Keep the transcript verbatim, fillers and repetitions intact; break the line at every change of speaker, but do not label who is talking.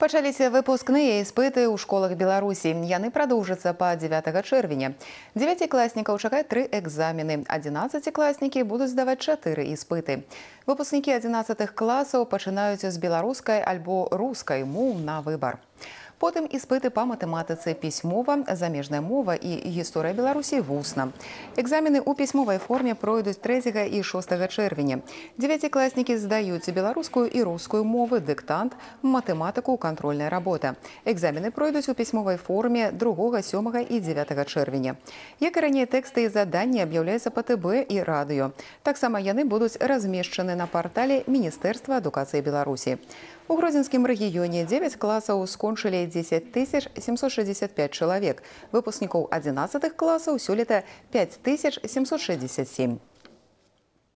Пачаліся выпускныя іспыты ў школах Беларусі. Яны прадоўжацца па дзевятага чэрвеня. Дзевяцікласнікаў чакаюць тры экзамены. Адзінаццацікласнікі будуць здаваць чатыры іспыты. Выпускнікі адзінаццатых класаў пачынаюць з беларускай альбо рускай моў на выбар. Потым іспыты па матэматыцы пісьмова, замежная мова і гісторыя Беларусі вусна. Экзамены ў пісьмовай форме пройдуць трэцяга і шостага чэрвеня. Дзевяцікласнікі здаюць беларускую і рускую мовы, дыктант, матэматыку, кантрольная работа. Экзамены пройдуць у пісьмовай форме другога, сёмага і дзевятага чэрвеня. Як і раней, тэксты і заданні аб'яўляюцца па тэ бэ і радыё. Таксама яны будуць размешчаны на партале Міністэрства адукацыі Беларусі. У Гродзенскім рэгіёне дзевяць класаў скончылі дзесяць тысяч сямсот шэсцьдзесят пяць чалавек. Выпускнікоў адзінаццатых класаў сёлета пяць тысяч сямсот шэсцьдзесят сем.